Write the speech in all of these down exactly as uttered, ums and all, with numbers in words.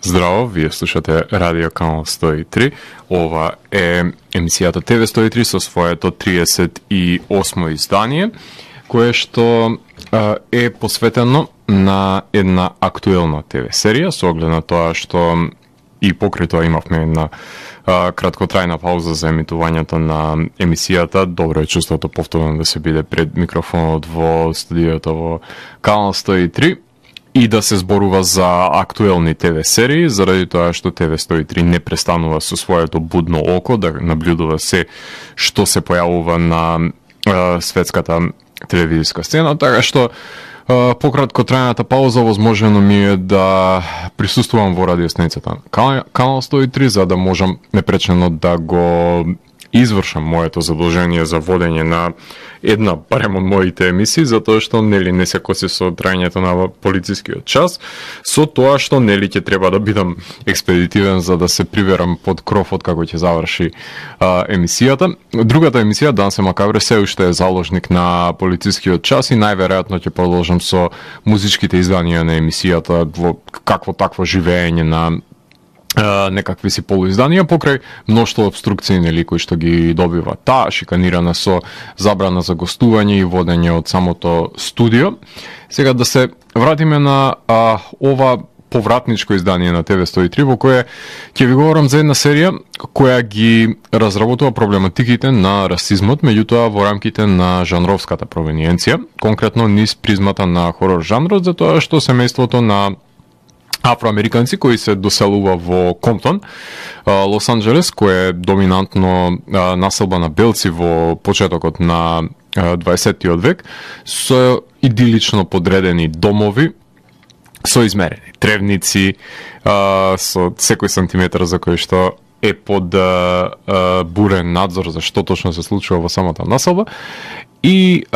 Здраво, вие слушате Радио Канал сто и три. Ова е емисијата Т В сто и три со своето триесет и осмо издание, кое што е посветено на една актуелна Т В серија, со оглед на тоа што и покрај тоа имавме една а, краткотрајна пауза за емитувањето на емисијата. Добро е чувството повторно да се биде пред микрофонот во студиото во Канал сто и три и да се зборува за актуелни Т В серии, заради тоа што Т В сто и три не престанува со своето будно око да наблюдува се што се појавува на а, светската телевизиска сцена, така што Uh, по краткотрајната пауза возможно ми е да присуствувам во радиостаницата Канал сто и три, за да можам непречено да го извршам моето задолжение за водење на една, барем од моите емисии, затоа што нели не се коси со трајањето на полицискиот час, со тоа што нели ќе треба да бидам експедитивен за да се приверам под крофот како ќе заврши а, емисијата. Другата емисија, Дан се макабре, се уште е заложник на полицискиот час и најверојатно ќе продолжам со музичките изданија на емисијата во какво такво живеење на Uh, некакви си полуизданија покрај мноштво обструкции нели кои што ги добива таа, шиканирана со забрана за гостување и водење од самото студио. Сега да се вратиме на uh, ова повратничко издание на Т В сто и три, во кое ќе ви говорам за една серија која ги разработува проблематиките на расизмот, меѓутоа во рамките на жанровската провениенција, конкретно низ призмата на хорор жанрот, затоа што семејството на афроамериканци кои се доселува во Комптон, Лос Анџелес, кој е доминантно населба на белци во почетокот на дваесеттиот век, со идилично подредени домови, со измерени тревници, со секој сантиметар за кој што е под бурен надзор за што точно се случува во самата населба и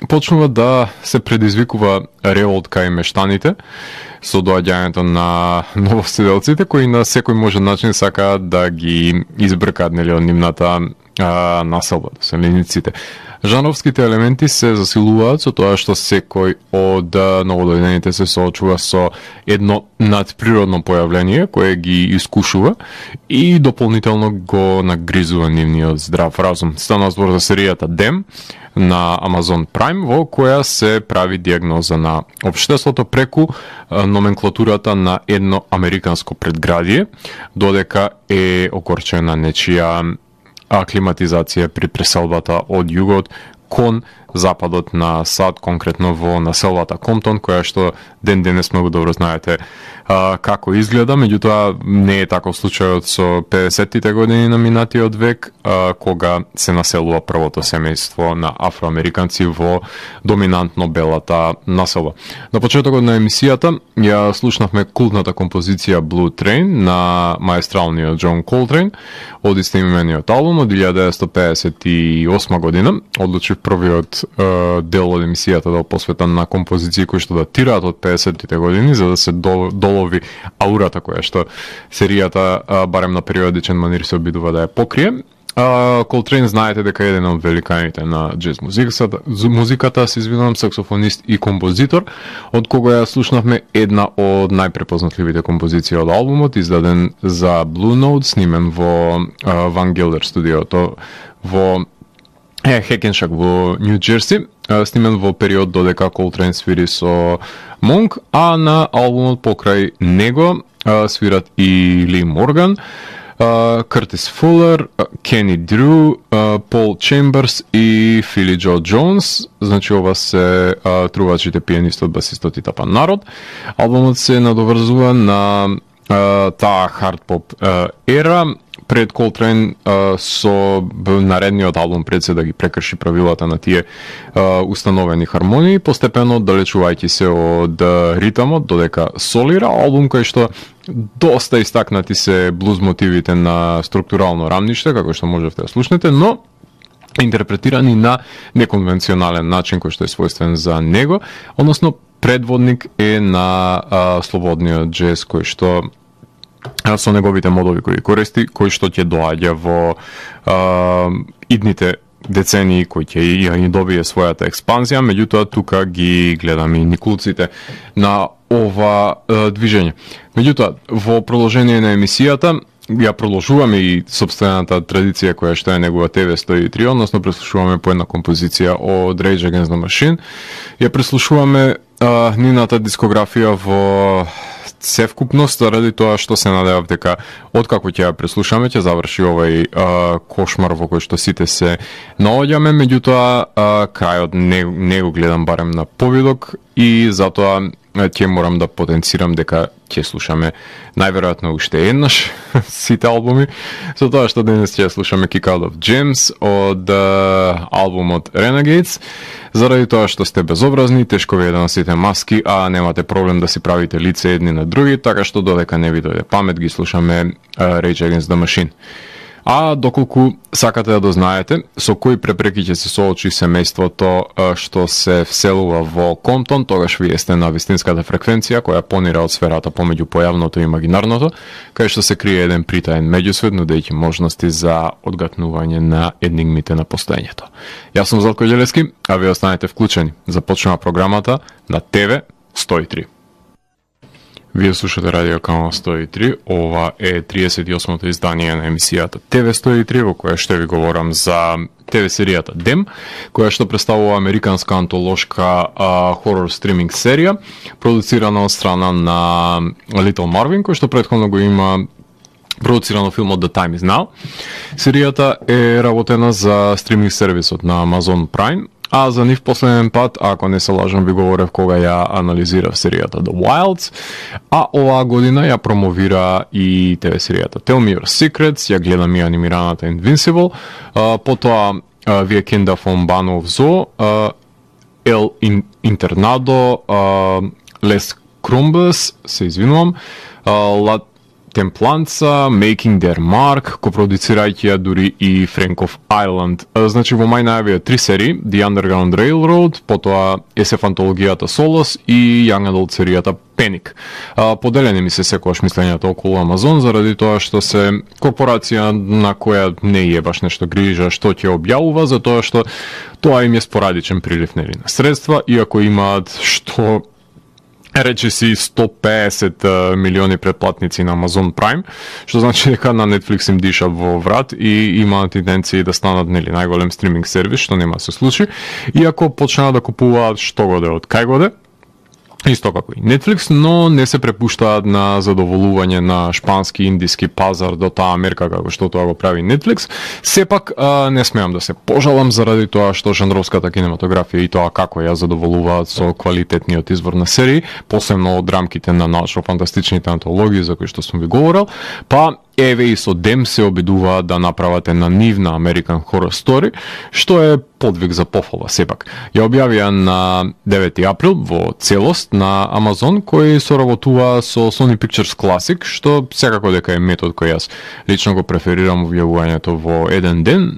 почнува да се предизвикува револт кај мештаните со доаѓањето на новоседелците кои на секој можен начин сакаат да ги избркаат нели од нивната а, населба, доселениците. Жанровските елементи се засилуваат со тоа што секој од новодојдените се соочува со едно надприродно појавление кое ги искушува и дополнително го нагризува нивниот здрав разум. Стана збор за серијата Дем на Amazon Prime, во која се прави диагноза на општеството преку номенклатурата на едно американско предградие, додека е окорчена нечија аклиматизација при преселбата од југот кон западот на САД, конкретно во населбата Комптон, која што ден денес многу добро знаете а, како изгледа, меѓутоа не е таков случајот со педесеттите години на минатиот век, а, кога се населува првото семејство на афроамериканци во доминантно белата населба. На почетокот на емисијата ја слушнавме култната композиција Blue Train на маестралниот Џон Колтрейн од истоимениот албум од илјада деветстотини педесет и осма година. Одлучив првиот дел од емисијата да посветен на композиции кои што датираат од педесеттите години, за да се долови аурата која што серијата барем на периодичен манир се обидува да ја покрие. Колтрейн знаете дека е еден од великаните на џез музиката, музиката се извинувам, саксофонист и композитор, од кога ја слушнавме една од најпрепознатливите композиции од албумот, издаден за Blue Note, снимен во Ван Гелдер студиото во Е, Хекеншак во Нью Џерси, снимен во период додека Колтрейн свири со Монк, а на албумот покрај него свират и Ли Морган, Къртис Фулер, Кени Дрю, Пол Чемберс и Фили Џо Џонс. Значи ова се трувачите, пианистот, басистот и тапан народ. Албумот се надоврзува на таа хард-поп ера. Пред Колтрейн со наредниот албум пред се да ги прекрши правилата на тие а, установени хармонии, постепено далечувајќи се од ритамот, додека солира, албум кој што доста истакнати се блуз мотивите на структурално рамниште, како што можете да слушнете, но интерпретирани на неконвенционален начин кој што е својствен за него, односно предводник е на а, слободниот џез кој што со неговите модови кои користи, кои што ќе доаѓа во а, идните децении кој ќе ја ни добие својата експанзија, меѓутоа тука ги гледаме и никулците на ова е, движење. Меѓутоа, во продолжение на емисијата, ја продолжуваме и собствената традиција која што е негова Т В сто и три, односно преслушуваме по една композиција од Rage Against the Machine. Ја преслушуваме а, нината дискографија во севкупност, ради тоа што се надевав дека откако ќе ја преслушаме ќе заврши овај а, кошмар во кој што сите се наоѓаме, меѓутоа а, крајот не, не го гледам барем на повидок и затоа ќе морам да потенцирам дека ќе слушаме најверојатно уште еднаш сите албуми, со тоа што денес ќе слушаме Kick Out of Gems од uh, албумот Renegades, заради тоа што сте безобразни, тешко ви е да носите маски, а немате проблем да си правите лице едни на други, така што додека не ви дојде памет ги слушаме uh, Rage Against the Machine. А доколку сакате да дознаете со кои препреки ќе се соочи семејството што се вселува во Комптон, тогаш вие сте на вистинската фреквенција која понира од сферата помеѓу појавното и имагинарното, кај што се крие еден притаен меѓусвет, нудејќи можности за одгатнување на енигмите на постоењето. Јас сум Златко Ѓелевски, а вие останете вклучени. Започнува програмата на Т В сто и три. Вие слушате Радио Канал сто и три, ова е триесет и осмото издание на емисијата Т В сто и три, во која ще ви говорам за Т В серијата Дем, која што представува американска антолошка а, хорор стриминг серија, продуцирана од страна на Little Marvin, кој што претходно го има продуцирано филмот The Time Is Now. Серијата е работена за стриминг сервисот на Amazon Prime, а за нив последен пат, ако не се лажам, ви говорев кога ја анализирав серијата The Wilds, а оваа година ја промовира и Т В серијата Tell Me Your Secrets, ја гледам и анимираната Invincible, а, потоа а, Викенда фон Банов Зо, El Internado, Les Crumbes, се извинувам, La Темпланца, Making Their Mark, копродуцирајќи ја дури и Frank of Ireland. Значи во мај најавија три серии, The Underground Railroad, потоа ес еф антологијата Solos и Young Adult серијата Panic. Поделени ми се секогаш мислењето околу Амазон, заради тоа што се корпорација на која не е баш нешто грижа што ќе објавува, затоа што тоа им е спорадичен прилив нели на средства, иако имаат што рече си сто песет милиони претплатници на Amazon Prime, што значи дека на Netflix им диша во врат и имаат интенции да станат нели најголем стриминг сервис, што нема се случи, иако почнаа да купуваат што годе од кај годе, исто како и Netflix, но не се препуштаат на задоволување на шпански индиски пазар до таа мерка како што тоа го прави Netflix. Сепак а, не смеам да се пожалам заради тоа што жанровската кинематографија и тоа како ја задоволуваат со квалитетниот избор на серии, посебно од рамките на научно-фантастичните антологии за кои што сум ви говорил, па еве и со Дем се обидуваат да направат една нивна American Horror Story, што е подвиг за пофала сепак. Ја објавија на девети април во целост на Amazon, кој соработува со Sony Pictures Classic, што секако дека е метод кој јас лично го преферирам објавувањето во еден ден.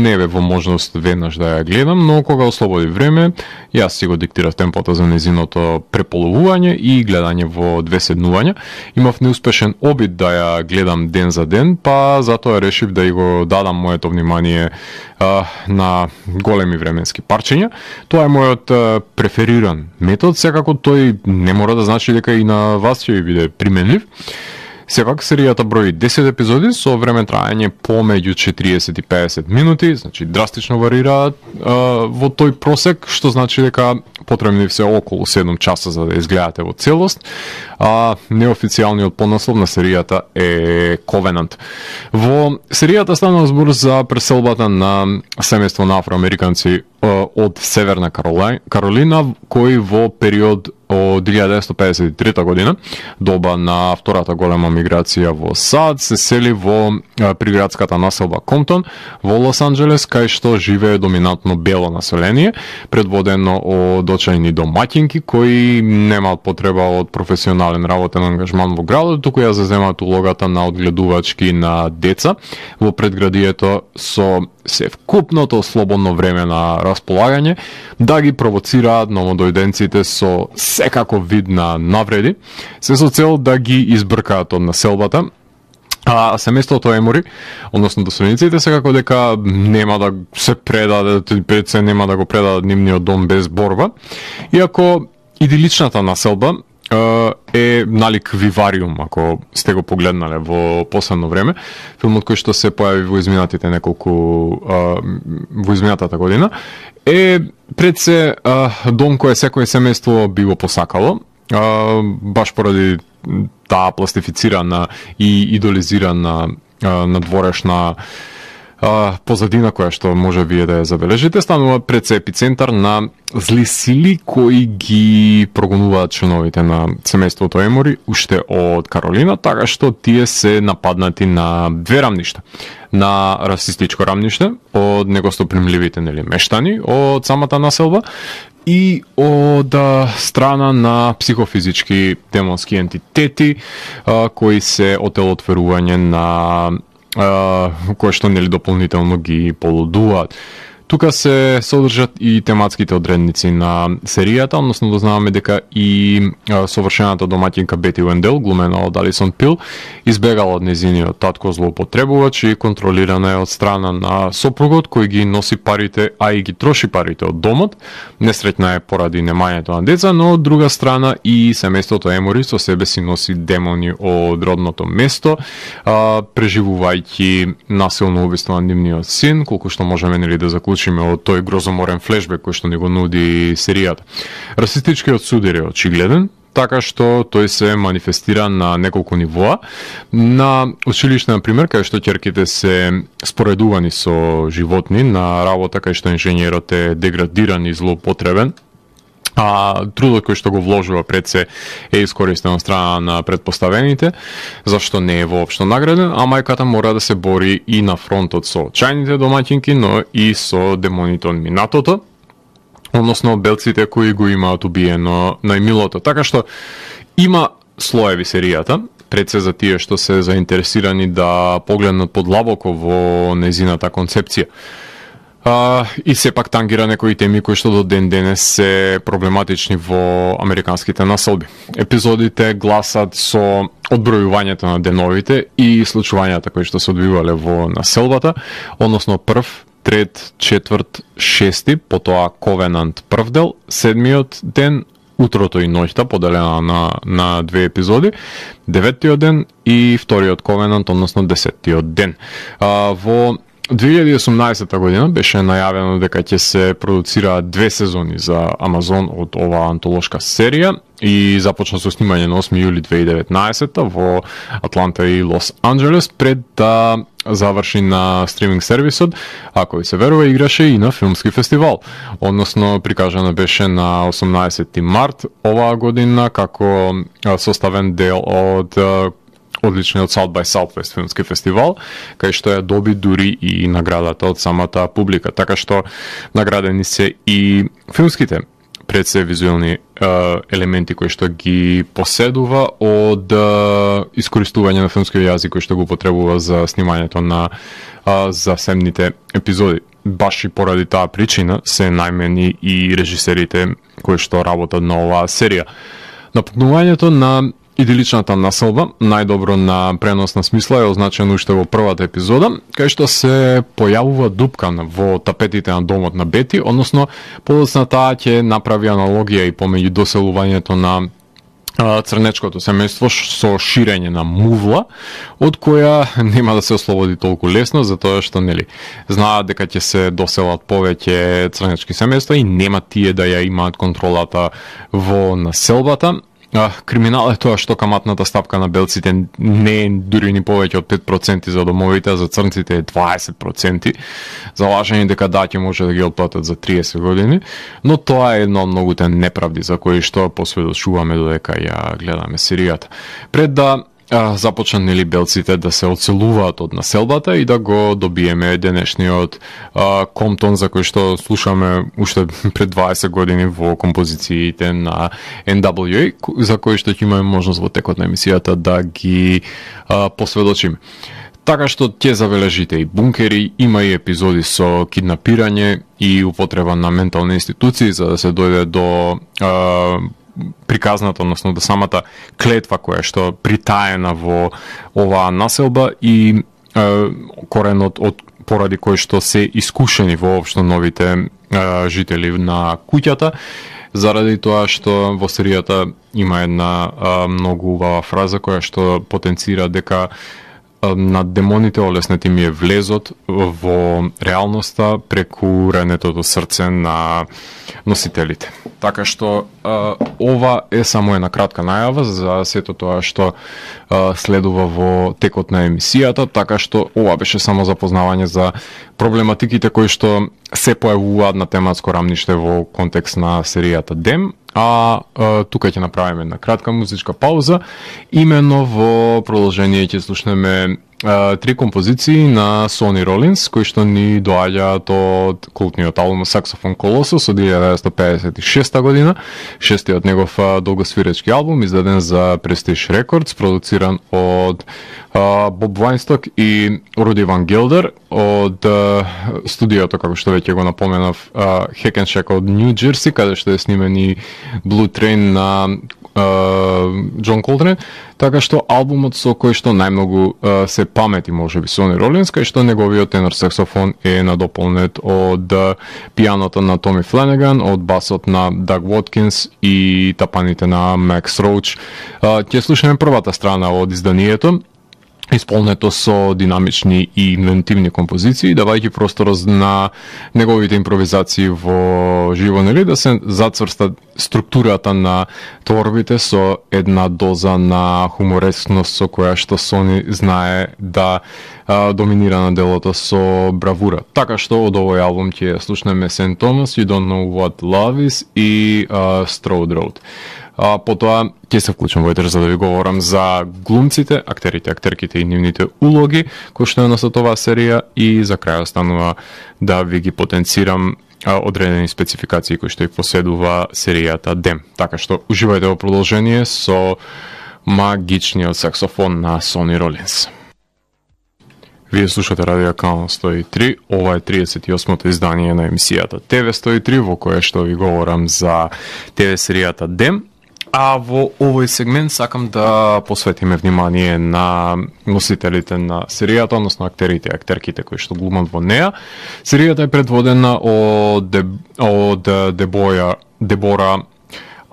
Не бе во можност веднаш да ја гледам, но кога ослободи време, јас си го диктирав темпото за незиното преполовување и гледање во две седнувања. Имав неуспешен обид да ја гледам ден за ден, па затоа решив да и го дадам моето внимание а, на големи временски парчења. Тоа е мојот а, префериран метод, секако тој не мора да значи дека и на вас ќе ви биде применлив. Сепак, серијата брои десет епизоди со време трајање помеѓу четириесет и песет минути, значи драстично варираат а, во тој просек, што значи дека потребни се околу седум часа за да изгледате во целост. А неофицијалниот поднаслов на серијата е Covenant. Во серијата станува збор за преселбата на семејство на афроамериканци од Северна Каролина, кои во период од илјада деветстотини педесет и трета година, доба на втората голема миграција во САД, се сели во приградската населба Комптон во Лос Анџелес, кај што живее доминантно бело население, предводено од очајни домаќинки кои немаат потреба од професионален работен ангажман во градот, туку ја заземаат улогата на одгледувачки на деца во предградието со севкупното слободно време на располагање, да ги провоцираат новодојденците со секако вид на навреди, се со цел да ги избркаат од населбата А семејството Емори, односно досониците, секако дека нема да се предадат, пред се нема да го предадат нивниот дом без борба, иако идиличната населба е налик Вивариум, ако сте го погледнале во последно време, филмот кој што се појави во изминатите неколку во изминатата година, е пред се дом кој секој семејство би го посакало, баш поради таа пластифицирана и идолизирана надворешна позадина која што може вие да ја забележите, станува пред се епицентар на зли сили кои ги прогонуваат членовите на семејството Емори уште од Каролина, така што тие се нападнати на две рамништа. На расистичко рамниште од негостопримливите нели мештани од самата населба и од страна на психофизички демонски ентитети а, кои се отелотворување на а, кои што нели дополнително ги полудуваат. Тука се содржат и тематските одредници на серијата, односно дознаваме дека и а, совршената домаќинка Бети Уендел, глумена од Алисон Пил, избегала од незиниот татко злоупотребувач и контролирана е од страна на сопругот кој ги носи парите, а и ги троши парите од домот. Несреќна е поради немањето на деца, но од друга страна и семејството Емори со себе си носи демони од родното место, а, преживувајќи насилно убиство на нивниот син, колку што можеме нели да заклучиме од тој грозоморен флешбек кој што ни го нуди серијата. Расистичкиот судир е очигледен, така што тој се манифестира на неколку нивоа. На училиште, например, кај што ќерките се споредувани со животни, на работа кај што инженерот е деградиран и злоупотребен, а трудот кој што го вложува пред се е искористен од страна на предпоставените, зашто не е воопшто награден, а мајката мора да се бори и на фронтот со чајните домаќинки, но и со демоните од минатото, односно белците кои го имаат убиено најмилото. Така што има слоеви серијата, пред се за тие што се заинтересирани да погледнат подлабоко во незината концепција. Uh, и сепак тангира некои теми кои што до ден денес се проблематични во американските населби. Епизодите гласат со одбројувањето на деновите и случувањата кои што се одвивале во населбата, односно прв, трет, четврт, шести, потоа Ковенант прв дел, седмиот ден, утрото и ноќта, поделена на, на две епизоди, деветиот ден и вториот Ковенант, односно десеттиот ден. Uh, во две илјади и осумнаесетта година беше најавено дека ќе се продуцираат две сезони за Амазон од оваа антолошка серија и започна со снимање на осми јули две илјади и деветнаесетта во Атланта и Лос Анџелес пред да заврши на стриминг сервисот, а кој се верува играше и на филмски фестивал. Односно прикажана беше на осумнаесетти март оваа година како составен дел од одличниот South by Southwest филмски фестивал, кај што ја доби дури и наградата од самата публика. Така што наградени се и филмските пред се визуелни е, елементи кои што ги поседува од е, искористување на филмски јазик кој што го потребува за снимањето на е, засебните епизоди. Баш и поради таа причина се најмени и режисерите кои што работат на оваа серија. Напукнувањето на идиличната населба, најдобро на преносна смисла, е означено уште во првата епизода, кај што се појавува дупка во тапетите на домот на Бети, односно подоцна таа ќе направи аналогија и помеѓу доселувањето на црнечкото семејство со ширење на мувла, од која нема да се ослободи толку лесно, затоа што нели знаат дека ќе се доселат повеќе црнечки семејства и нема тие да ја имаат контролата во населбата. Криминал е тоа што каматната стапка на белците не е дури ни повеќе од пет проценти за домовите, а за црнците е дваесет проценти. Залажени дека да ќе може да ги отплатат за триесет години, но тоа е едно од многуте неправди за кои што посведочуваме додека ја гледаме серијата. Пред да а, започнат нели белците да се оцелуваат од населбата и да го добиеме денешниот а, Комптон за кој што слушаме уште пред дваесет години во композициите на Ен Дабл Ю Ей, за кои што ќе имаме можност во текот на емисијата да ги а, посведочиме. Така што ќе забележите и бункери, има и епизоди со киднапирање и употреба на ментални институции за да се дојде до а, приказната, односно до самата клетва која што притаена во оваа населба и е, коренот од поради кој што се искушени воопшто новите е, жители на куќата, заради тоа што во серијата има една е, многу убава фраза која што потенцира дека на демоните олеснети ми е влезот во реалноста преку ренетото срце на носителите. Така што а, ова е само една кратка најава за сето тоа што а, следува во текот на емисијата, така што ова беше само запознавање за проблематиките кои што се појавуваат на тематско рамниште во контекст на серијата Дем. А, а тука ќе направиме една кратка музичка пауза. Имено во продолжение ќе слушнеме а, три композиции на Сони Ролинс, кои што ни доаѓаат од култниот албум Saxophone Colossus од илјада деветстотини педесет и шеста година, шестиот негов а, долгосвиречки албум, издаден за Prestige Records, продуциран од а, Боб Вајнсток и Руди Ван Гелдер од а, студиото, како што веќе го напоменав, а, Hackensack од Нью Џерси, каде што е снимени Blue Train на Џон Колтрейн, така што албумот со кој што најмногу uh, се памети можеби Сони Ролинс, кај што неговиот тенор саксофон е надополнет од uh, пијаното на Томи Фленеган, од басот на Даг Воткинс и тапаните на Макс Роуч. Uh, ќе слушаме првата страна од изданието, исполнето со динамични и инвентивни композиции, давајќи простор на неговите импровизации во живо, нели, да се зацврста структурата на творбите со една доза на хуморескност со која што Сони знае да а, доминира на делото со бравура. Така што од овој албум ќе слушнеме Сент Томас, You Don't Know What Love Is и uh, Strode Road. А, потоа ќе се вклучам во етер за да ви говорам за глумците, актерите, актерките и нивните улоги кои што е на оваа серија, и за крај останува да ви ги потенцирам а, одредени спецификации кои што и поседува серијата Дем. Така што уживајте во продолжение со магичниот саксофон на Сони Ролинс. Вие слушате Радио Канал сто и три, ова е триесет и осмото издание на емисијата Т В сто и три, во кое што ви говорам за Т В серијата Дем. А во овој сегмент сакам да посветиме внимание на носителите на серијата, односно актерите и актерките кои што глумат во неа. Серијата е предводена од, Деб... од Дебоја... Дебора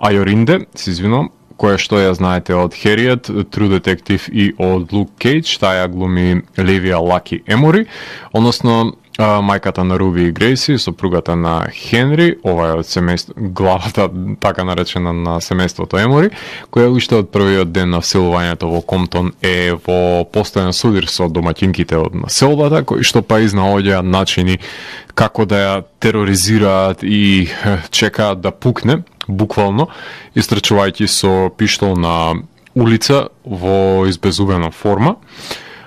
Ајоринде, се извинувам, која што ја знаете од Хериет, True Detective и од Luke Cage, таа ја глуми Левија Лаки Емори, односно мајката на Руби и Грейси, сопругата на Хенри, ова е од семејство, главата така наречена на семејството Емори, која уште од првиот ден на вселувањето во Комптон е во постојан судир со домаќинките од населбата, кои што па изнаоѓаат начини како да ја тероризираат и чекаат да пукне, буквално, истрчувајќи со пиштол на улица во избезубена форма.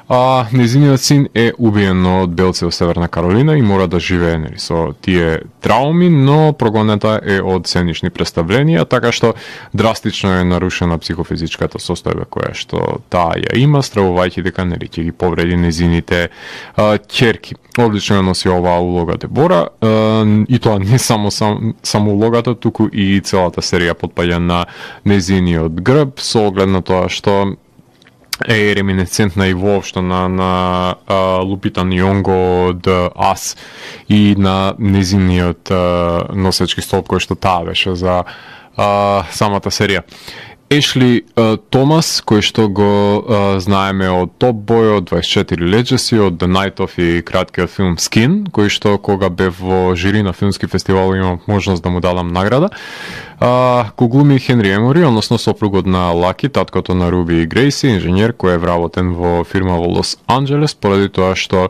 А незиниот син е убиен од белци од Северна Каролина и мора да живее нели со тие трауми, но прогонета е од сценични представленија, така што драстично е нарушена психофизичката состојба која што таа ја има, стравувајќи дека нели ќе ги повреди незините а, ќерки. Одлично носи оваа улога Дебора, а, и тоа не само сам, само улогата, туку и целата серија потпаѓа на незиниот грб, со оглед на тоа што е реминесцентна и воопшто на, на а, Лупита Нионго од Ас и на незиниот а, носечки столб кој што таа беше за а, самата серија. Ешли uh, Томас, кој што го uh, знаеме од Топ Бој, од дваесет и четири Legacy, од The Night Of и краткиот филм Skin, кој што кога бев во жири на филмски фестивал имам можност да му дадам награда. Uh, ко глуми Хенри Емори, односно сопругот на Лаки, таткото на Руби и Грейси, инженер кој е вработен во фирма во Лос Анџелес, поради тоа што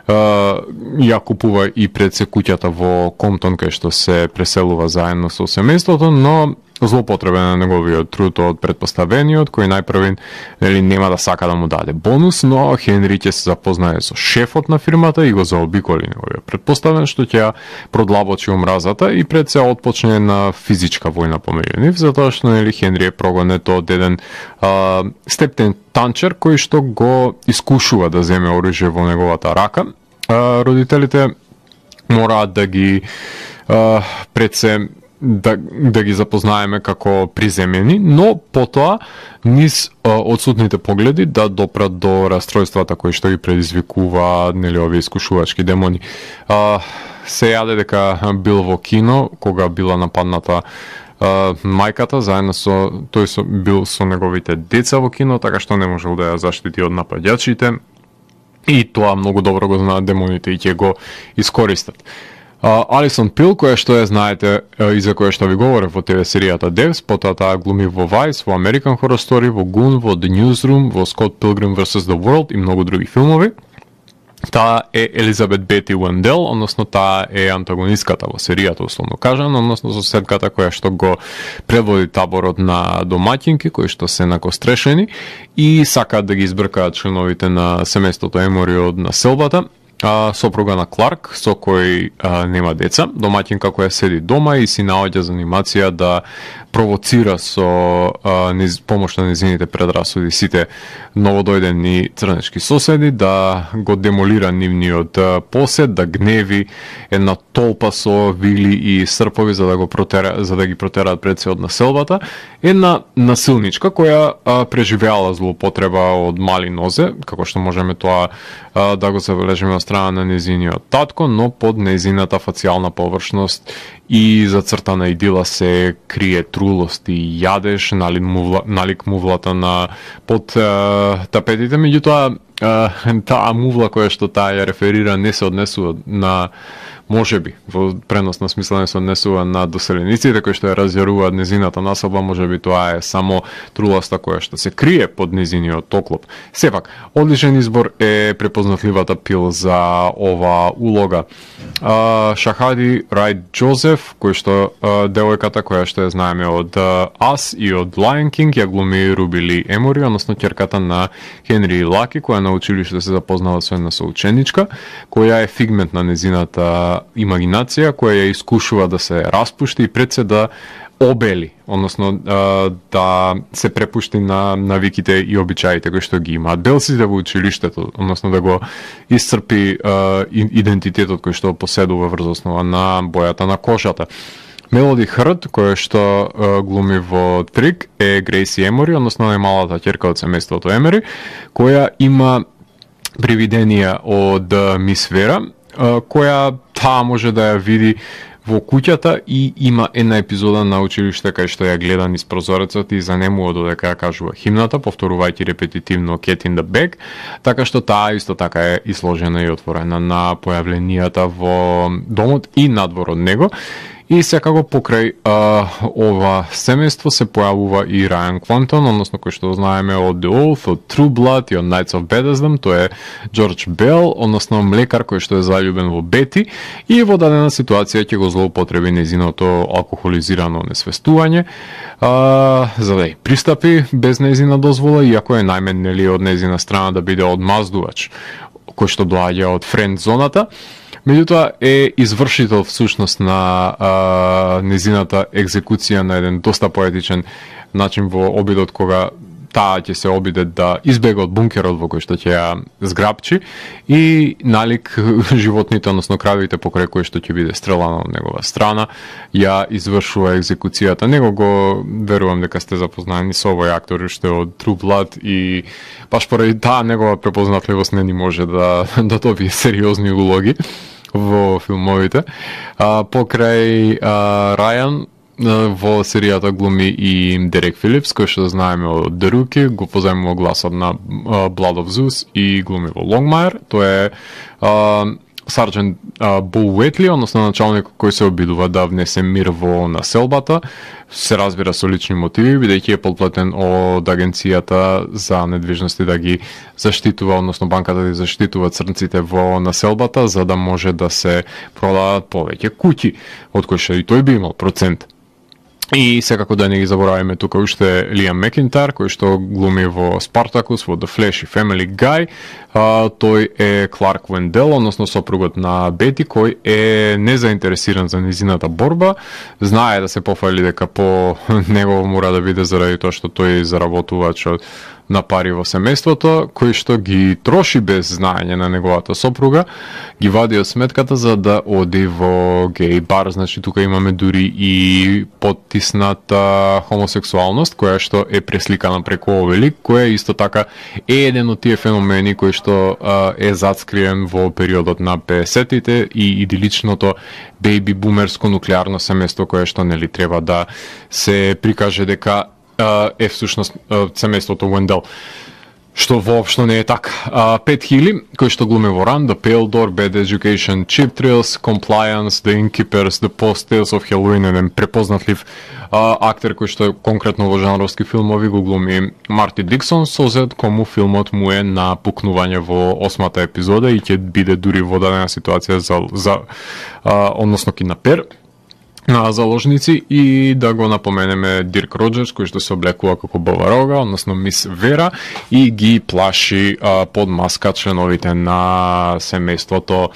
Uh, ја купува и пред се куќата во Комптон, кај што се преселува заедно со семејството, но злоупотребен на неговиот труд од предпоставениот, кој најпрвин нели нема да сака да му даде бонус, но Хенри ќе се запознае со шефот на фирмата и го заобиколи неговиот предпоставен, што ќе продлабочи омразата и пред се отпочне на физичка војна помеѓу нив, затоа што нели Хенри е прогонет од еден uh, стептен танчер кој што го искушува да земе оружје во неговата рака. Uh, родителите мораат да ги uh, пред се да, да ги запознаеме како приземени, но потоа низ одсутните погледи да допрат до растројствата кои што ги предизвикува нели овие искушувачки демони. А, се јаде дека бил во кино кога била нападната Uh, мајката, заедно со тој со, бил со неговите деца во кино, така што не можел да ја заштити од нападјачите и тоа многу добро го знаат демоните и ќе го искористат. Uh, Алисон Пил, која што ја знаете uh, и за која што ви говорев во ТВ серијата Devs, потоа таа глуми во Vice, во American Horror Story, во Goon, во The Newsroom, во Scott Pilgrim versus the World и многу други филмови. Таа е Елизабет Бети Уендел, односно таа е антагонистката во серијата, условно кажано, односно соседката која што го предводи таборот на домаќинки кои што се накострешени и сакаат да ги избркаат членовите на семејството Емори од населбата. А, сопруга на Кларк, со кој а, нема деца, домаќинка која седи дома и си наоѓа занимација да провоцира со а, низ, помош на незините предрасуди сите новодојдени црнечки соседи, да го демолира нивниот а, посед, да гневи една толпа со вили и српови за да го протера, за да ги протераат пред се од населбата. Една насилничка која а, преживеала злоупотреба од мали нозе, како што можеме тоа а, да го забележиме од страна на незиниот татко, но под незината фацијална површност и зацртана идила се крие трулост и јадеж, налик, мувла, налик мувлата на под а, тапетите. Меѓутоа, таа мувла која што таа ја реферира не се однесува на можеби, во преносна смисла не се однесува на доселениците кои што ја разјаруваат незината населба, можеби тоа е само труласта која што се крие под незиниот оклоп. Сепак, одличен избор е препознатливата Пил за ова улога. Uh, Шахади Райт Джозеф, кој што uh, девојката која што ја знаеме од uh, Us и од Lion King, ја глуми Руби Ли Емори, односно ќерката на Хенри Лаки, која на училиште се запознала со една соученичка, која е фигмент на незината имагинација, која ја искушува да се распушти и пред се да обели, односно да се препушти на навиките и обичаите кои што ги имаат белците во училиштето, односно да го исцрпи идентитетот кој што поседува врз основа на бојата на кожата. Мелоди Хрд, која што uh, глуми во Трик, е Грейси Емори, односно најмалата ќерка од семејството Емори, која има привиденија од uh, Мис Вера, uh, која таа може да ја види во куќата и има една епизода на училиште кај што ја гледа низ прозорецот и занемува додека ја кажува химната, повторувајќи репетитивно Cat in the Bag, така што таа исто така е изложена и отворена на појавленијата во домот и надвор од него. И секако покрај а, ова семејство се појавува и Рајан Квантон, односно кој што знаеме од The Oath, од True Blood и од Knights of Bethesda, тој е Джордж Бел, односно млекар кој што е заљубен во Бети и во дадена ситуација ќе го злоупотреби незиното алкохолизирано несвестување, а, за да ја пристапи без незина дозвола, иако е најмен нели од незина страна да биде одмаздувач кој што доаѓа од френд зоната. Меѓутоа е извршител всушност на а, незината екзекуција на еден доста поетичен начин во обидот кога таа ќе се обиде да избега од бункерот во кој што ќе ја зграбчи и налик животните, односно кравите покрај кои што ќе биде стрелана од негова страна, ја извршува екзекуцијата. Него го верувам дека сте запознаени со овој актор уште од True Blood и баш поради таа негова препознатливост не ни може да да добие сериозни улоги во филмовите. А, покрај а, Рајан во серијата глуми и Дерек Филипс, кој што знаеме од The Rookie, го позајмува гласот на uh, Blood of Zeus и глуми во Longmire. Тој е uh, сарџент uh, Бул Уетли, односно началник кој се обидува да внесе мир во населбата. Се разбира со лични мотиви, бидејќи е подплатен од агенцијата за недвижности да ги заштитува, односно банката да ги заштитува црнците во населбата, за да може да се продадат повеќе куќи, од кои што и тој би имал процент. И секако да не ги забораваме тука уште Лиам Мекинтар, кој што глуми во Спартакус, во The Flash и Family Guy, а, тој е Кларк Вендел, односно сопругот на Бети, кој е незаинтересиран за низината борба, знае да се пофали дека по него мора да биде заради тоа што тој заработувач на пари во семејството, кој што ги троши без знаење на неговата сопруга, ги вади од сметката за да оди во геј бар. Значи тука имаме дури и поттисната хомосексуалност, која што е пресликана преку овој лик, која исто така е еден од тие феномени кој што а, е зацкриен во периодот на педесетите и идиличното бејби бумерско нуклеарно семејство, кое што нели треба да се прикаже дека е всушност семејството Вендел, што воопшто не е така. Пет хиляди, кој што глуми во Run, The Pale Door, Bad Education, Cheap Thrills, Compliance, The Innkeepers, The Post, Tales of Halloween, еден препознатлив а, актер кој што конкретно во жанровски филмови го глуми Марти Диксон, созет кому филмот му е на пукнување во осмата епизода и ќе биде дури во дадена ситуација за, за а, односно киднапер на заложници. И да го напоменеме Дирк Роджерс, кој што се облекува како Баба Рога, односно Мис Вера, и ги плаши а, под маска членовите на семејството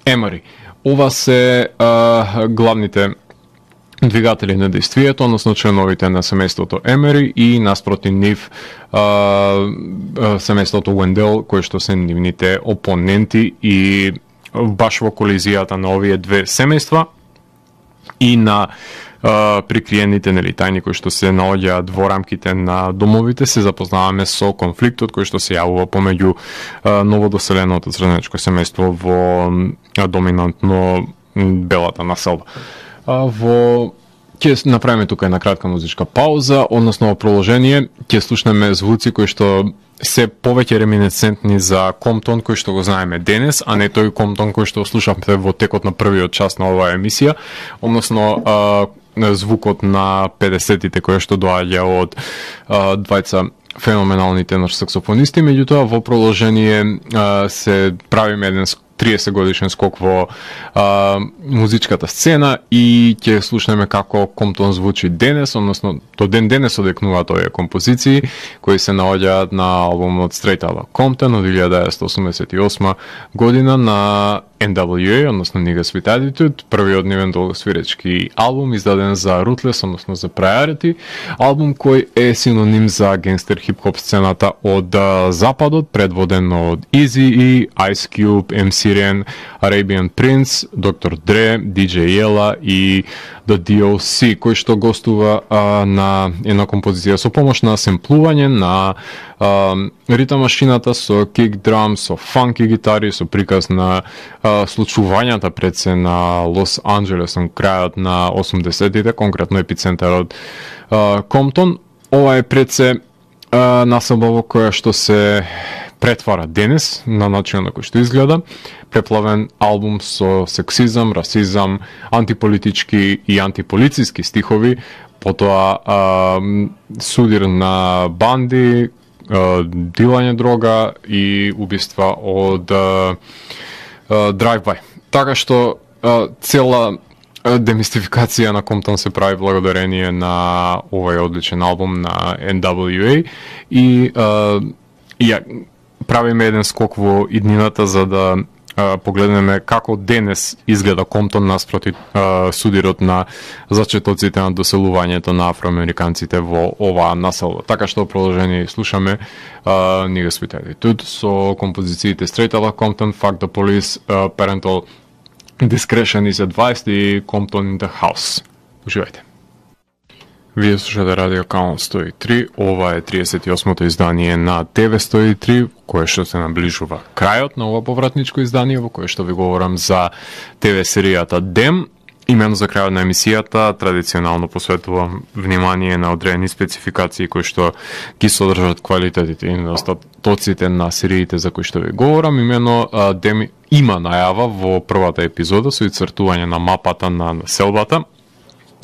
Емери. Ова се а, главните двигатели на действието, односно членовите на семејството Емери и наспроти нив а, семејството Вендел, кои што се нивните опоненти, и баш во колизијата на овие две семејства и на а, прикриените нели тајни кои што се наоѓаат во рамките на домовите, се запознаваме со конфликтот кој што се јавува помеѓу а, новодоселеното црнечко семејство во а, доминантно белата населба. А, во ќе направиме тука една кратка музичка пауза, односно во продолжение ќе слушнеме звуци кои што се повеќе реминесцентни за Комптон кој што го знаеме денес, а не тој Комптон кој што слушавме во текот на првиот час на оваа емисија, односно а, звукот на педесетите кој што доаѓа од а, двајца феноменални тенор саксофонисти. Меѓутоа во продолжение а, се правиме еден триесет годишен скок во а, музичката сцена и ќе слушнеме како Комптон звучи денес, односно до ден денес одекнуваат овие композиции кои се наоѓаат на албумот Straight Outta Compton од илјада деветстотини осумдесет и осма година на Ен Дабл Ю Ей, односно Niggas with Attitude, првиот нивен долгосвиречки албум издаден за Ruthless, односно за Priority, албум кој е синоним за генгстер хип-хоп сцената од а, западот, предводен од Eazy-E, Ice Cube, Ем Си Ren, Arabian Prince, Доктор Dre, Ди Џеј Ела и The Ди О Си, кој што гостува а, на една композиција со помош на семплување на а, ритам машината со кик драм, со фанки гитари, со приказ на а, случувањата пред се на Лос Анџелес на крајот на осумдесетите, конкретно епицентарот а, Комптон. Ова е пред се а, населба во која што се претвара денес на начин на кој што изгледа, преплавен албум со сексизам, расизам, антиполитички и антиполициски стихови, потоа а, судир на банди, а, дилање дрога и убиства од драйв-бај. Така што а, цела демистификација на Комптон се прави благодарение на овој одличен албум на Ен Дабл Ю Ей и а, ја правиме еден скок во иднината за да а, погледнеме како денес изгледа Комптон наспроти а, судирот на зачетоците на доселувањето на афроамериканците во оваа населба. Така што продолжение слушаме а, Niggas with Attitude со композициите Straight Outta Compton, Fuck the Police, uh, Parental Discretion is Advised и Compton in the House. Уживајте. Вие слушате Радио Каон сто и три, ова е триесет и осмото издание на Те Ве сто и три, кое што се наближува крајот на ова повратничко издание, во кое што ви говорам за Те Ве серијата Дем. Именно за крајот на емисијата традиционално посветувам внимание на одредени спецификации кои што ги содржат квалитетите и недостатоците на сериите за кои што ви говорам. Именно Дем има најава во првата епизода со ицртување на мапата на населбата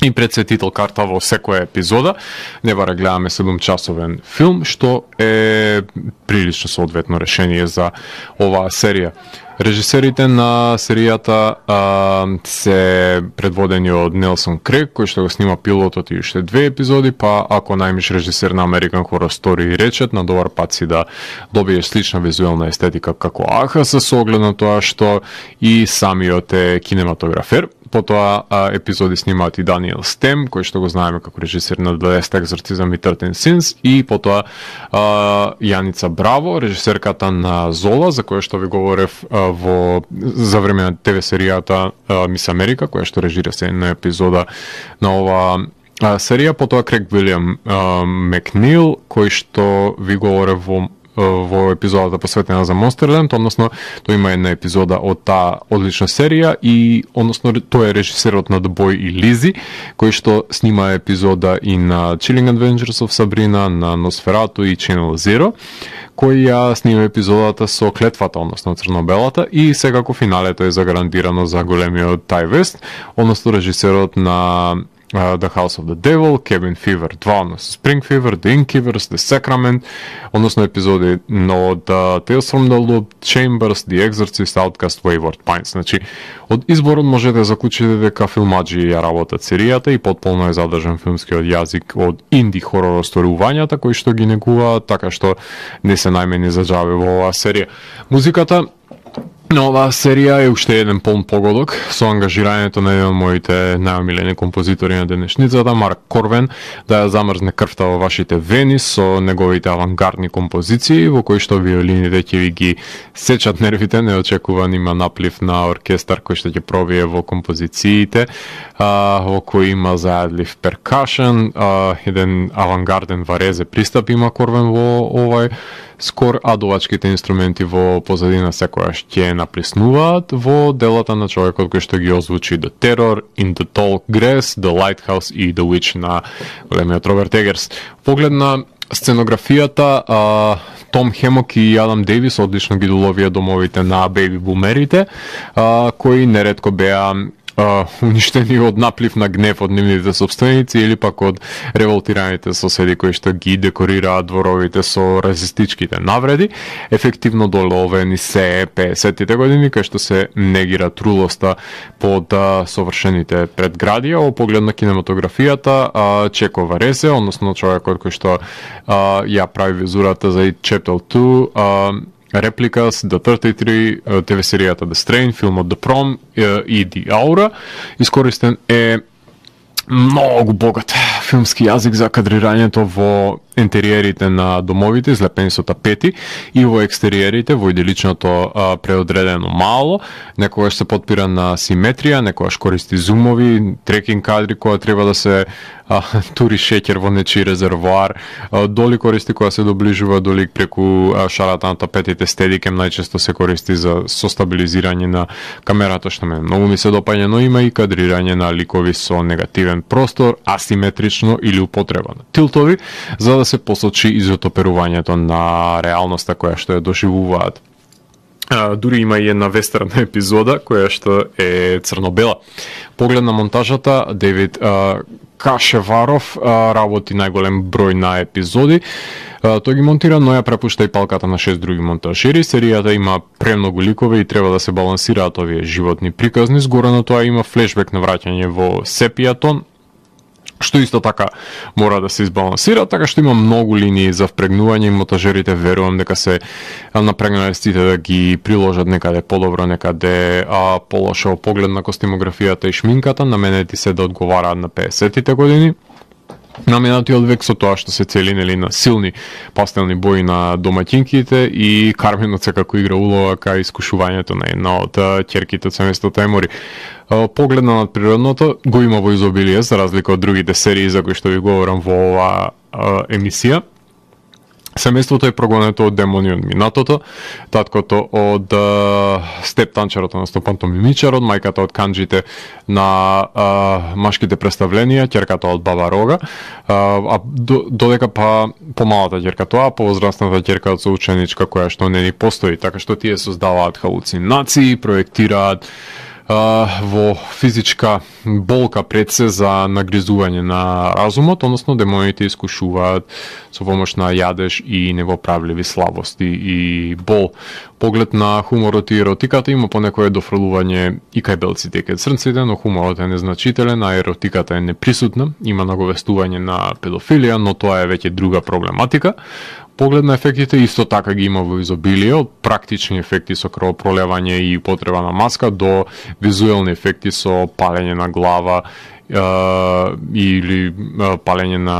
и предсветител карта во секоја епизода. Не бара гледаме седумчасовен филм, што е прилично соодветно решение за оваа серија. Режисерите на серијата а, се предводени од Нелсон Крейг, кој што го снима пилотот и уште две епизоди, па ако најмиш режисер на American Horror Story и речет, на добар пат си да добиеш слична визуелна естетика како Аха, со оглед на тоа што и самиот е кинематографер. Потоа а, епизоди снимаат и Даниел Стем, кој што го знаеме како режисер на дваесет Екзорцизам и тринаесет Sins, и потоа а, Јаница Браво, режисерката на Зола, за која што ви говорев а, во за време на ТВ серијата Мис Америка, која што режира се на епизода на ова а, серија. Потоа Крейг Вилиам а, Макнил, кој што ви говорев во во епизодата посветена за Монстерленд, односно тој има една епизода од таа одлична серија и односно тој е режисерот на The Boy и Лизи, кој што снима епизода и на Chilling Adventures of Sabrina, на Носферату и Channel Zero, кој ја снима епизодата со клетвата, односно црно-белата, и секако финалето е загарантирано за големиот Тај Вест, односно режисерот на Uh, The House of the Devil, Cabin Fever два, односно Spring Fever, The Innkeepers, The Sacrament, односно епизоди од uh, Tales from the Loop, Chambers, The Exorcist, Outcast, Wayward Pines. Значи, од изборот можете да заклучите дека филмаџи ја работат серијата и потполно е задржан филмскиот јазик од инди хорор осториувањата кои што ги негуваат, така што не се најмени за џабе во оваа серија. Музиката на оваа серија е уште еден полн погодок со ангажирањето на еден од моите најомилени композитори на денешницата, Марк Корвен, да ја замрзне крвта во вашите вени со неговите авангардни композиции, во кои што виолините ќе ви ги сечат нервите. Неочекуван има наплив на оркестар кој што ќе пробие во композициите, а, во кој има зајадлив перкашен, а, еден авангарден варезе пристап има Корвен во овај скор, а дувачките инструменти во позадина секојаш ќе наплиснуваат во делата на човекот кој што ги озвучи The Terror, In the Tall Grass, The Lighthouse и The Witch на големиот Роберт Егерс. Поглед на сценографијата, а, Том Хемок и Адам Дейвис одлично ги доловија домовите на бејби бумерите, а, кои неретко беа Uh, уништени од наплив на гнев од нивните собственици или пак од револтираните соседи кои што ги декорираат дворовите со расистичките навреди. Ефективно доловени се песетите години, кај што се негира трулоста под uh, совршените предградија. Во поглед на кинематографијата, uh, Чеко Варесе, односно човекот кој што uh, ја прави визурата за It Chapter two, uh, Replicas, The тридесет и три, ТВ серијата The Strain, филмот The Prom и The Aura. Искористен е многу богат филмски јазик за кадрирањето во интериерите на домовите, излепени со тапети, и во екстериерите, во иделичното а, преодредено мало. Некогаш се потпира на симетрија, некогаш користи зумови, трекинг кадри која треба да се а, тури шеќер во нечи резервоар, а, доли користи која се доближува до лик преку а, шарата на тапетите, стедикем најчесто се користи за состабилизирање на камерата, што ме многу ми се допаѓа, но има и кадрирање на ликови со негативен простор, асиметрично или употребано тилтови, за да се посочи изотоперувањето на реалноста која што ја доживуваат. Uh, дури има и една вестерна епизода која што е црно-бела. Поглед на монтажата, Девид uh, Кашеваров uh, работи најголем број на епизоди. Uh, тој ги монтира, но ја препушта и палката на шест други монтажери. Серијата има премногу ликове и треба да се балансираат овие животни приказни. Згоре на тоа има флешбек на враќање во сепијатон, што исто така мора да се избалансира, така што има многу линии за впрегнување и монтажерите верувам дека се напрегнале сите да ги приложат некаде подобро, некаде а, полошо поглед на костимографијата и шминката, на мене ти се да одговараат на песетите години. На минатиот век со тоа што се цели нели на силни пастелни бои на домаќинките и Карменот секако игра улога кај искушувањето на една од ќерките од семејството Емори. Поглед на надприродното го има во изобилие, за разлика од другите серии за кои што ви говорам во оваа емисија. Семејството е прогонето од демони од минатото, таткото од uh, Степ Танчарот, односно Пантомимичарот, мајката од канџите на uh, машките представленија, ќерката од Баба Рога, uh, а до, додека па помалата ќерка тоа, повозрастната ќерка од соученичка која што не ни постои, така што тие создаваат халуцинации, проектираат во физичка болка пред се за нагризување на разумот, односно демоните искушуваат со помош на јадеж и невоправливи слабости и бол. Поглед на хуморот и еротиката има понекое дофрлување и кај белците и кај црнците, но хуморот е незначителен, а еротиката е неприсутна, има наговестување на педофилија, но тоа е веќе друга проблематика. Поглед на ефектите исто така ги има во изобилие, од практични ефекти со крвопролевање и потреба на маска до визуелни ефекти со палење на глава е, или е, палење на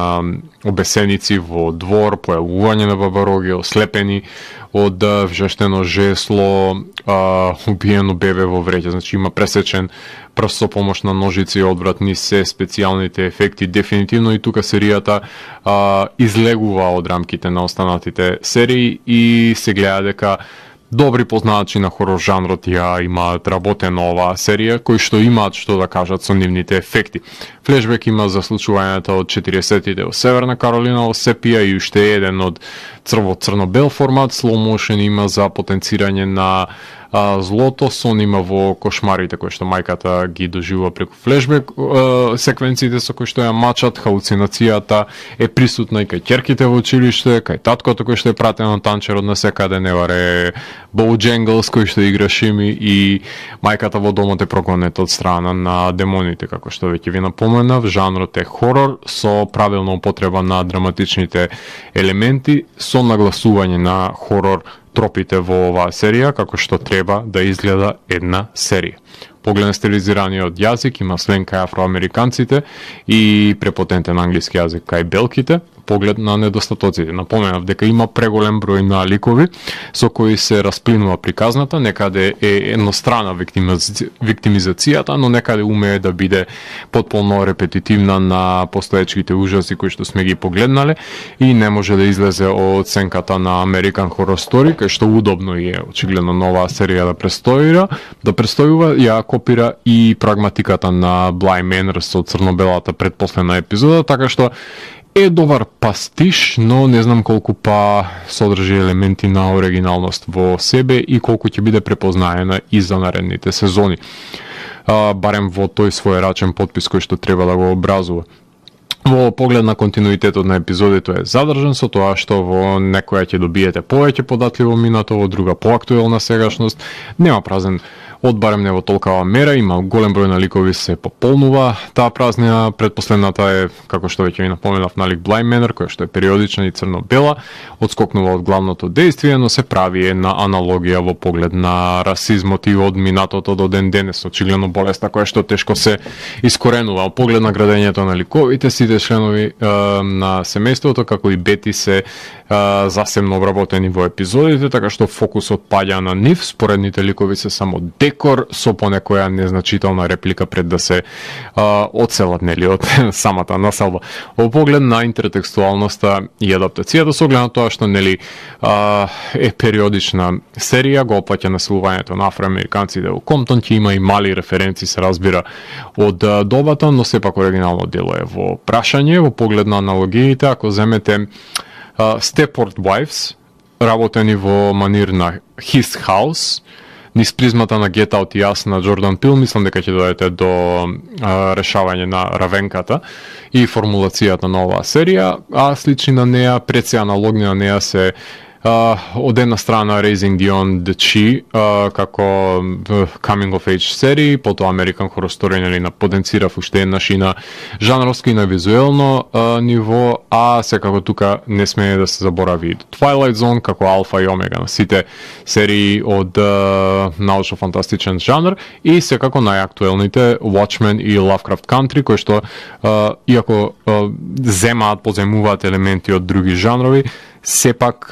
обесеници во двор, појавување на бабароги, ослепени од вжештено жесло, а, убиено бебе во вреќа, значи има пресечен прст со помош на ножици, одвратни се специјалните ефекти. Дефинитивно и тука серијата а, излегува од рамките на останатите серии и се гледа дека добри познавачи на хорор жанрот ја имаат работено оваа серија, кои што имаат што да кажат со нивните ефекти. Флешбек има за случувањата од четиридесеттите во Северна Каролина, во Сепија и уште еден од црво-црно-бел формат. Slow motion има за потенцирање на а, злото, сон има во кошмарите кои што мајката ги доживува преку флешбек, а, секвенциите со кои што ја мачат, халуцинацијата е присутна и кај ќерките во училиште, кај таткото кој што е пратен на танчерот на секаде, не варе Боуџенглс кој што игра Шими и мајката во домот е прогонета од страна на демоните, како што веќе ви напоменав. Жанрот е хорор со правилна употреба на драматичните елементи, со нагласување на хорор тропите во оваа серија, како што треба да изгледа една серија. Поглед на стилизираниот јазик, има сленг кај афроамериканците и препотентен англиски јазик кај белките. Поглед на недостатоците, напоменав дека има преголем број на ликови со кои се расплинува приказната, некаде е еднострана виктимизацијата, но некаде умее да биде потполно репетитивна на постоечките ужаси кои што сме ги погледнале и не може да излезе од сенката на American Horror Story, кај што удобно е очигледно нова серија да престоира, да престојува, ја копира и прагматиката на Bly Manor со црно-белата предпоследна епизода, така што е добар пастиш, но не знам колку па содржи елементи на оригиналност во себе и колку ќе биде препознаена и за наредните сезони. А, барем во тој своерачен подпис кој што треба да го образува. Во поглед на континуитетот на епизодите е задржан со тоа што во некоја ќе добиете повеќе податливо минато, во друга поактуелна сегашност, нема празен одбарем не во толкава мера, има голем број на ликови, се пополнува таа празнина. Предпоследната е, како што веќе ви напоменав, налик Bly Manor, која што е периодична и црно-бела, одскокнува од главното дејствие, но се прави една аналогија во поглед на расизмот и од минатото до ден денес, очигледно болеста која што тешко се искоренува. Во поглед на градењето на ликовите, сите членови е, на семејството, како и Бети, се е, засебно обработени во епизодите, така што фокусот паѓа на нив, споредните ликови се само декор со понекоја незначителна реплика пред да се а, одселат, нели, од самата населба. Во поглед на интертекстуалноста и адаптацијата, со оглед на тоа што, нели, а, е периодична серија, го опаќа населувањето на афроамериканците во Комптон, ќе има и мали референци, се разбира, од а, добата, но сепак оригинално дело е во прашање. Во поглед на аналогиите, ако земете uh, Stepford Wives, работени во манир на His House, низ призмата на Get Out и Us на Джордан Пил, мислам дека ќе дојдете до а, решавање на равенката и формулацијата на оваа серија, а слични на неа, пред се аналогни на неа се Uh, од една страна Raising Beyond the Chi, uh, како Coming of Age серии, потоа American Horror Story, нели, на потенцирав уште еднаш и на жанровски и на визуелно uh, ниво, а секако тука не смее да се заборави Twilight Zone како алфа и омега на сите серии од uh, научно-фантастичен жанр и секако најактуелните Watchmen и Lovecraft Country, кои што uh, иако uh, земаат, поземуваат елементи од други жанрови, сепак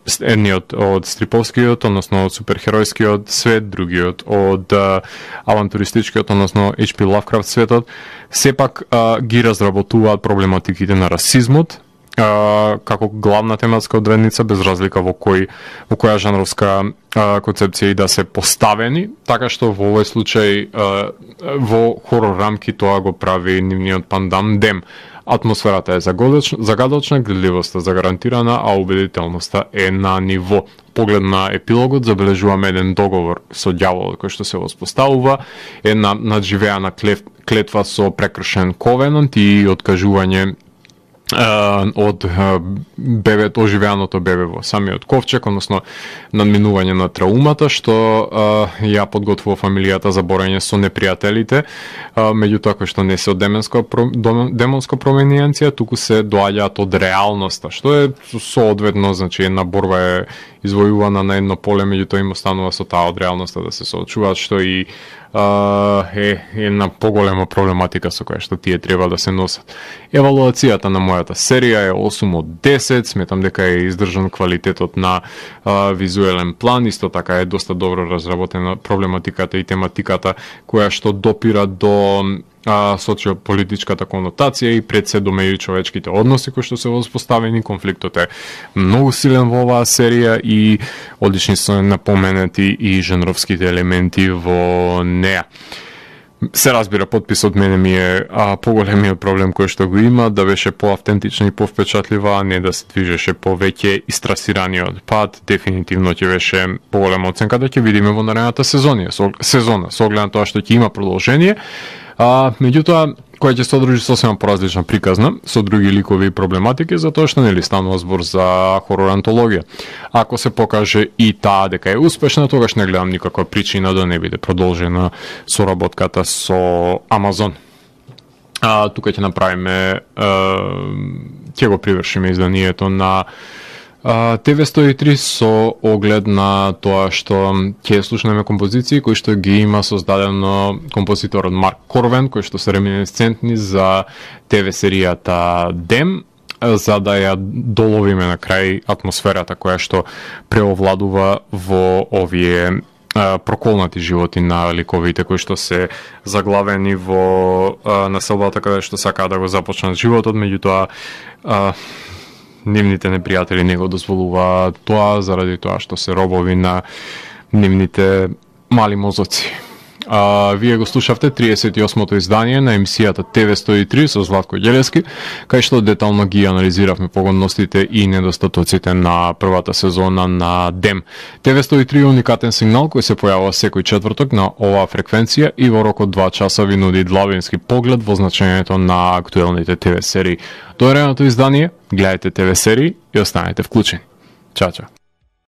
едниот од стриповскиот, односно од суперхеројскиот свет, другиот од а, авантуристичкиот, односно Ейч Пи Lovecraft светот, сепак а, ги разработуваат проблематиките на расизмот а, како главна тематска одредница, без разлика во кој во која жанровска а, концепција и да се поставени, така што во овој случај а, во хорор рамки тоа го прави нивниот пандам Дем. Атмосферата е загадочна, гледливоста загарантирана, а убедителноста е на ниво. Поглед на епилогот забележуваме еден договор со ѓаволот кој што се воспоставува, една надживеана клетва со прекршен ковенант и откажување од бебето, оживеаното бебе во самиот ковчег, односно надминување на траумата што ја подготвува фамилијата за борење со непријателите, меѓутоа кој што не се од демонска демонска промениенција, туку се доаѓаат од реалноста, што е соодветно, значи една борба е извојувана на едно поле, меѓутоа им останува со таа од реалноста да се соочуваат, што и е една поголема проблематика со која што тие треба да се носат. Евалуацијата на мојата серија е осум од десет, сметам дека е издржан квалитетот на а, визуелен план, исто така е доста добро разработена проблематиката и тематиката која што допира до а, социополитичката конотација и пред се до меѓучовечките односи кои што се воспоставени. Конфликтот е многу силен во оваа серија и одлични се напоменати и жанровските елементи во неа. Се разбира, подписот мене ми е а, поголемиот проблем кој што го има, да беше поавтентична и повпечатлива, а не да се движеше повеќе истрасираниот пат. Дефинитивно ќе беше поголема оценка да ќе видиме во наредната сезона, со, сезона, со оглед на тоа што ќе има продолжение. А, меѓутоа, која ќе содржи сосема поразлична приказна, со други ликови и проблематики, затоа што нели станува збор за хорор антологија. Ако се покаже и таа дека е успешна, тогаш не гледам никаква причина да не биде продолжена соработката со Амазон. А, тука ќе направиме, ќе го привршиме изданието на Т В сто и три со оглед на тоа што ќе слушнеме композиции кои што ги има создадено композиторот Марк Корвен, кои што се реминесцентни за Т В серијата Дем, за да ја доловиме на крај атмосферата која што преовладува во овие проколнати животи на ликовите кои што се заглавени во населбата каде што сакаат да го започнат животот, меѓутоа нивните непријатели не го дозволуваат тоа заради тоа што се робови на нивните мали мозоци. А, вие го слушавте триесет и осмото издание на емисијата Т В сто и три со Златко Ѓелевски, кај што детално ги анализиравме погодностите и недостатоците на првата сезона на Дем. Т В сто и три е уникатен сигнал кој се појавува секој четврток на оваа фреквенција и во рок од два часа ви нуди длабински поглед во значењето на актуелните Т В серии. До наредното издание, гледајте Т В серии и останете вклучени. Чао, чао.